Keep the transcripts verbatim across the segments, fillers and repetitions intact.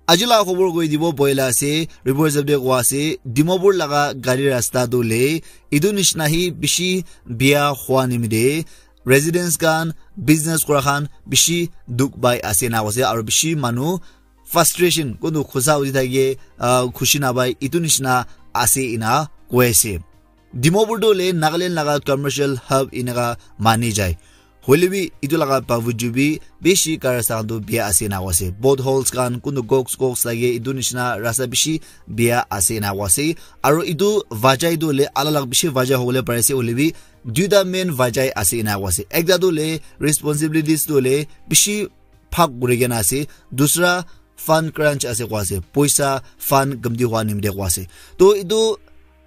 Aji laga khobor koi dibo boila ase, report hisab te koa ase, Dimapur laga gari rasta tu le, etu nishina hi bishi bia hua nimide, residents khan, business kura khan bishi dukh pai ase ena koise, aru bishi manu frustration, kuntu khusa uthi thake, ah, khushi napai, etu nishina ase ena koi ase. Dimapur tu le Nagaland laga commercial hub enaka mani jai. Hoile bi etu laga bavuju bi bishi gari rasta khan tu bia ase ena koa ase. Potholes khan, kuntu gox gox lage, etu nishina rasta bishi bia ase ena koa ase. Aru etu vajai tu le alag alag bishi vajai hobole pari ase, hoile bi duita main vajai ase ena koa ase. Ekta tu le responsibilities tu le bishi bhag kuri kena ase. Dusra fund crunch ase koa ase. Poisa fund kamti hua nimite koa ase. To etu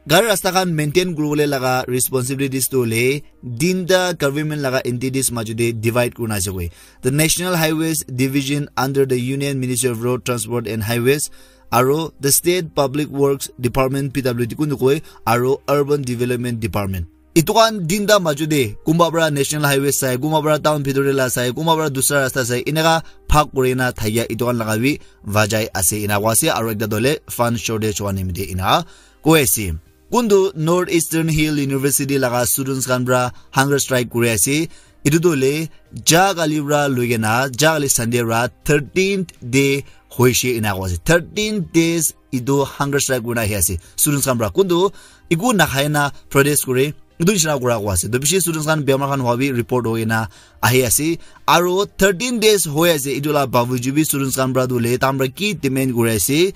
gari rasta khan maintain kuribole laga responsibilities tu hoile tinta government laga entities majute divide kurina ase koi. The National Highways Division under the Union Ministry of Road Transport and Highways, aro the State Public Works Department, P W D kuntu koi, aro Urban Development Department. Etu khan tinta majute kunba para National Highway sai, kunba para town bhitor te la sai, kunba para dusra rasta sai, eneka bhag kurina thakia etu khan laga bi vajai ase ena koa ase, aro ekta tu hoile fund shortage hua nimite ena koi ase. Kuntu North Eastern Hill University laga students khan para hunger strike kuri ase. Etu tu hoile ja kali para loi kena, ja kali Sunday para thirteenth day hoise ena koa ase. Thirteen days etu hunger strike kurina ahi ase students khan para. Kuntu eku nakhai na protest kure, etu nishina kura koa ase. To bishi students khan bemar khan hua bi report hoi na ahi ase. Aro thirteen days hoi ase, etu la bavuju bi students khan para tu hoile tahan para ki demand kuri ase,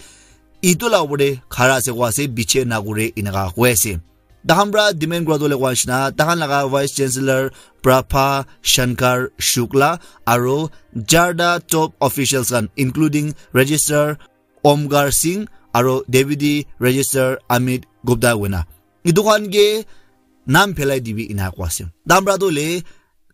etu la upor te khara ase koa ase, biche na kure eneka koi ase. Tahan para demand kura tu hoile koa nishina, tahan laga Vice Chancellor Prabha Shankar Shukla aro jarta top officials khan, including Registrar Omkar Singh aro Deputy Registrar Amit Gupta koina, etu khan ke nam phelai dibi ena koa ase. Tahan para tu hoile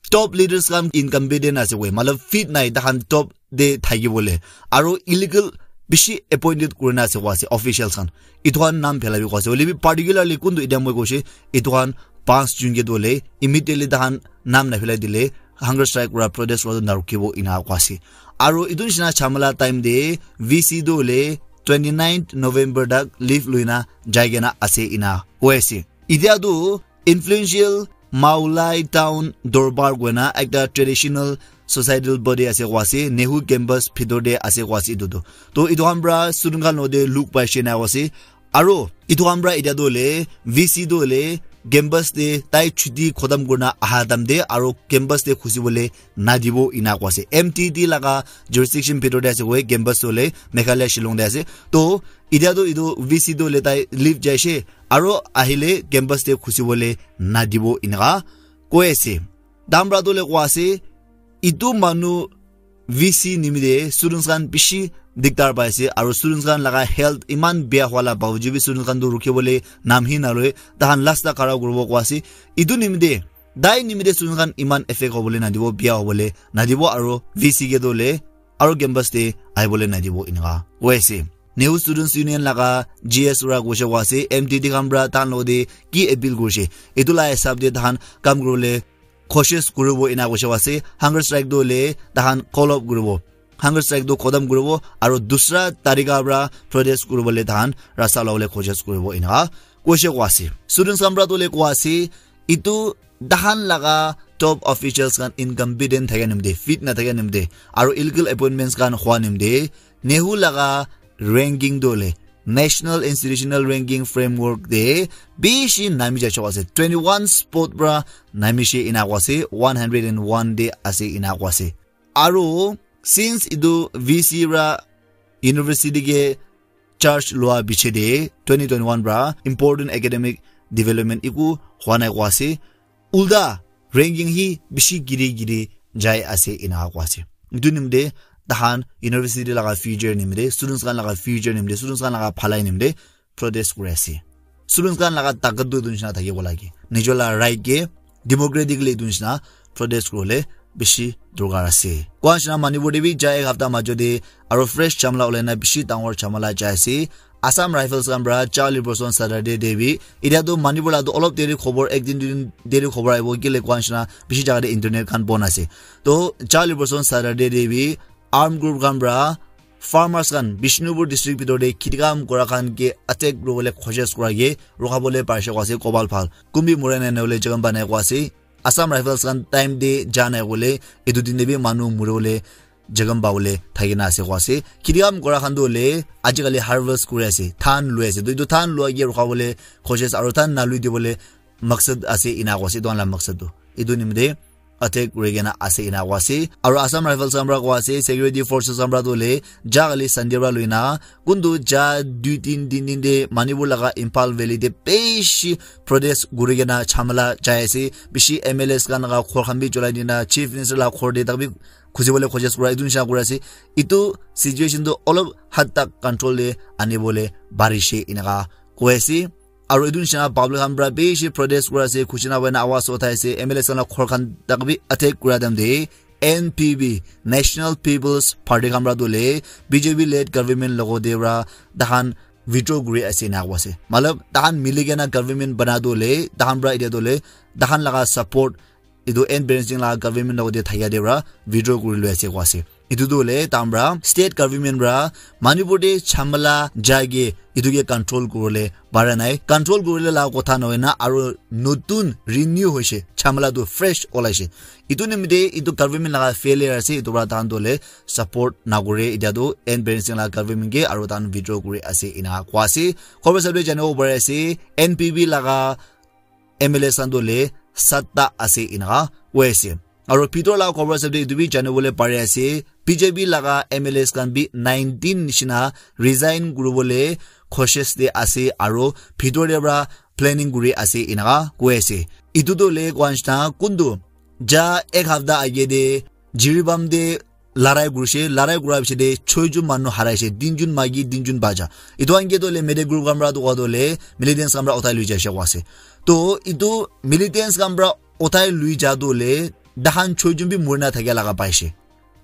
top leaders khan incompetent ase koi, matlab fit nai tahan top te thaki bole, aro illegal bishi appointed kurina ase koa ase officials khan. Etu khan nam phelai bi koa ase. Hoile bi particularly kuntu etia moi koise, etu khan panch jun ke tu hoile immediately tahan nam na phelai dile hunger strike kura, protest kura tu na rukibo ena koa ase. Aro etu nishina chamala time te V C tu hoile twenty ninth November tak leave loina jai kena ase ena koi ase. Etia tu influential Mawlai Town Dorbar koina ekta traditional societal body ase koa ase, Nehu campus bhitor te ase koa ase etu tu. To etu khan para student khan logote log paise ena koa ase. Aro etu khan para etia tu hoile V C tu hoile campus te tai chuti khotam kurina aha time te aro campus te khusi bole nadibo ena koa ase. M T D laga jurisdiction bhitor te ase koi, campus tu hoile Meghalaya Shillong te ase. To etia tu etu V C tu hoile tai leave jaise, aro ahile campus te khusi bole nadibo eneka koi ase. Tahan para tu hoile koa ase, etu manu V C nimite students khan bishi diktar pai ase, aro students khan laga health eman bia hua la bavuju bi students khan tu rukhi bole nam hi naloi, tahan last tak khara kuribo koa ase. Etu nimite, tai nimite students khan eman effect hobole nadibo, bia hobole nadibo, aro V C ke tu hoile aro campus te ahibole nadibo eneka koi ase. Nehu Students Union laga G S para koise koa ase, M T D khan para tahan logote ki appeal kurise, etu la hisab te tahan kam kuribole koshish kuribo ena koise koa ase. Hunger strike tu hoile tahan call off kuribo, hunger strike tu khotam kuribo, aro dusra tarika para protest kuribole tahan rasta ulabole koshish kuribo eneka koise koa ase. Students khan para tu hoile koa ase, etu tahan laga top officials khan incompetent thakia nimite, fit na thakia nimite, aro illegal appointments khan hua nimite, Nehu laga ranking tu hoile National Institutional Ranking Framework te bishi nami jai chok ase. Twenty one spot para namishe ena koa ase, one hundred and one te ase ena koa ase. Aro since etu V C para university ke charge lua piche te twenty twenty one para important academic development eku hua nai koa ase. Ulta ranking hi bishi giri giri jai ase ena koa ase. Etu nimite tahan university laga future nimite, students khan laga future nimite, students khan laga bhalai nimite protest kuri ase. Students khan laga takat tu etu nishina thakibo lage. Nijor laga right ke democratically etu nishina protest kuribole bishi dorkar ase. Koa nishina Manipur te bi jai ek hapta majo te aro fresh chamala ulai na bishi dangor chamala jai ase. Assam Rifles khan para Charlie Blossom Saturday te bi, etia tu Manipur la tu olop deri khobor, ek din dui din deri khobor ahibo, kile koa nishina bishi jaga te internet khan bon ase. To Charlie Blossom Saturday te bi armed group khan para farmers khan Bishnupur district bitor te kheti kam kura khan ke attack kuribole koshish kura ke rukhabole parise koa ase, kobal bhal. Kumbi mura nai nahole jokhom banai koa ase. Assam Rifles khan time te ja nai koile etu din te bi manu muribole jokhom pabole thaki na ase koa ase. Kheti kam kura khan tu hoile ajikali harvest kuri ase, dhan lui ase. To etu dhan lua ke rukhabole koshish aro dhan nalui dibole maksad ase ena koa ase, etu khan la maksad tu. Etu nimite attack kuri kena ase ena koa ase. Aro Assam Rifles khan para koa ase, security forces khan para tu hoile ja kali Sunday para lui na kuntu ja dui tin din din te Manipur laga Imphal Valley te bishi protest kuri kena jhamala jai ase. Bishi M L As khan laga ghor khan bi cholai dina, Chief Minister laga ghor te tak bi khusibole koshish kura, etu nisha kuri ase. Etu situation tu olop had tak control te anibole parise eneka koi ase. Aro etu nisha public khan para bishi protest kuri ase, khushi na hoina awaz uthai ase, M L As khan laga ghor khan tak bi attack kura time te N P P, National People's Party khan para tu hoile B J P led government logo te para tahan withdraw kuri ase ena koa ase. Matlab, tahan mili kena government bana tu hoile, tahan para etia tu hoile, tahan laga support etu N Biren Singh laga government logo te thakia te para withdraw kuri lui ase koa ase. Etu tu hoile tahan para state government para Manipur te jhamala jai ke etu ke control kuribole para nai. Control kuribole laga kotha nohoi na aro notun renew hoise, jhamala tu fresh olaise. Etu nimite etu government laga failure ase, etu para tahan tu hoile support nakure. Etia tu N Biren Singh laga government ke aro tahan withdraw kuri ase ena koa ase. Khobor sabole janibo pari ase, N P P laga M L As khan tu hoile satta ase ena koi ase. Aro bitor laga khobor sabole etu bi janibole pari ase, B J P laga M L As khan bi nineteen nisina resign kuribole koshish te ase aro bitor te para planning kuri ase eneka koi ase. Etu tu hoile koa nisina kuntu ja ek hafta age te Jiribam te larai kurise, larai kura piche te choi jon manu haraise, tin jon maiki, tin jon bacha. Etu khan ke tu hoile Meitei group khan para tu koa tu hoile militants khan para uthai lui jaise koa ase. To etu militants khan para uthai lui ja tu hoile tahan choi jon bi murina thakia laga paise.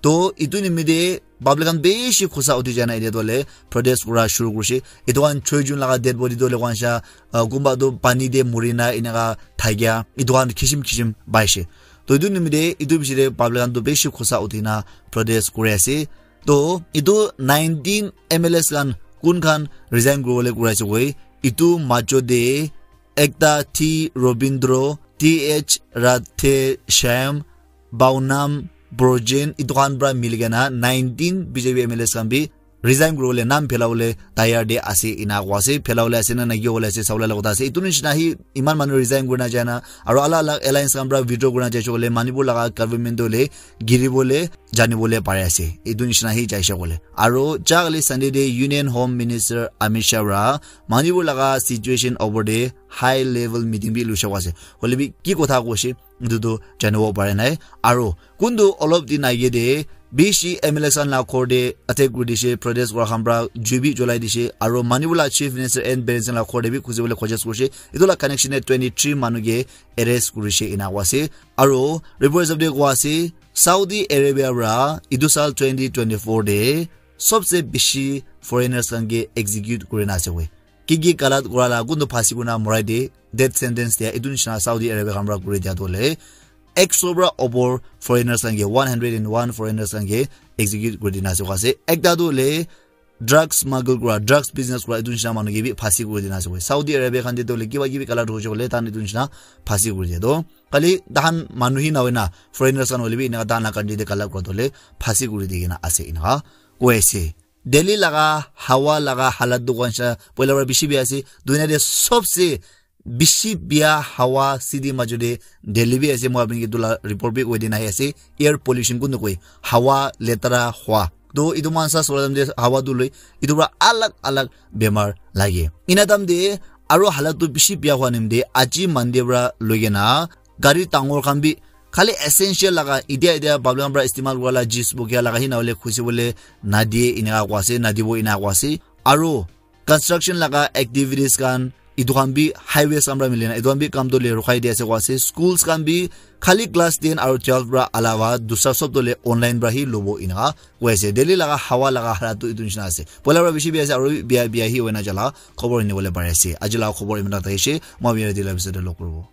To etu nimite public khan bishi khusa uthi jana etia tu hoile protest kura shuru kurise. Etu khan choi jon laga dead body tu hoile koa nisina, ah, kunba tu pani te murina eneka thakia, etu khan kisim kisim paise. To etu nimite etu piche te public khan tu bishi khusa uthi na protest kuri ase. To etu nineteen M L As khan kun khan resign kuribole kuri ase koi, etu majo te ekta T Robindro, T H Radhe Shyam, Baunam Brojen, etu khan para mili kena nineteen B J P M L As khan bi resign kuribole, nam phelabole tayar te ase ena koa ase. Phelabole ase na naki hobole ase sabole laga kotha ase. Etu nisina hi iman manu resign kurina jai na aro alag alag alliance khan para withdraw kurina jaise koile Manipur laga government tu hoile giribole janibole pari ase. Etu nisina hi jaise koile. Aro ja kali Sunday te Union Home Minister Amit Shah para Manipur laga situation opor te high level meeting bi luise koa ase. Hoile bi ki kotha koise etu tu janibo pare nai. Aro kuntu olop din age te bishi M L As khan laga ghor te attack kuri dise, protest kura khan para jui bi cholai dise, aro Manipur laga Chief Minister N Biren Singh laga ghor te bi khusibole koshish kurise. Etu laga connection te twenty three manu ke arrest kurise ena koa ase. Aro report hisab te koa ase Saudi Arabia para etu saal twenty twenty four te sobse bishi foreigners khan ke execute kurina ase koi. Ki ki galat kura laga kuntu phasi kurina morai de, death sentence dia, etu nisina Saudi Arabia khan para kuri dia tu hoile, ek sho para opor foreigners khan ke, one hundred and one foreigners khan ke execute kuri dina ase koa ase. Ekta tu hoile drugs smuggle kura, drugs business kura, etu nisina manu ke bi phasi kuri dina ase koa. Saudi Arabia khan te tu hoile kiba kibi galat hoise koile, tahan etu nisina phasi kuri dia tu. Khali tahan manu hi na hoina, foreigners khan hoile bi eneka tahan laga country te galat kura tu hoile phasi kuri di kena ase eneka koi ase. Delhi laga hawa laga halat tu koa nisina poila para bishi bia ase. Dunia te sobse bishi bia hawa city majo te Delhi bi ase. Moi apni ke etu laga report bi koi dina ahi ase. Air pollution kuntu koi, hawa letara hua. To etu moikhan sa sura time te hawa tu loi, etu para alag alag bemar lage. Ena time te aro halat tu bishi bia hua nimite aji Monday para loi kena gari dangor khan bi khali essential laga, etia etia public khan para istemal kura laga, jis bukia laga, hi na hoile khusi bole nadie eneka koa ase, nadibo eneka koa ase. Aro construction laga activities khan, etu khan bi highways khan para mili na, etu khan bi kam tu hoile rukhai di ase koa ase. Schools khan bi khali class ten aro twelve para alawa dusra sob tu hoile online para hi lobo eneka koi ase. Delhi laga hawa laga halat tu etu nisina ase. Poila para bishi bia ase, aro bia bia hi hoina jala khobor nibole pari ase. Aji laga khobor iman tak thakise, moi bia dila bisar te log kuribo.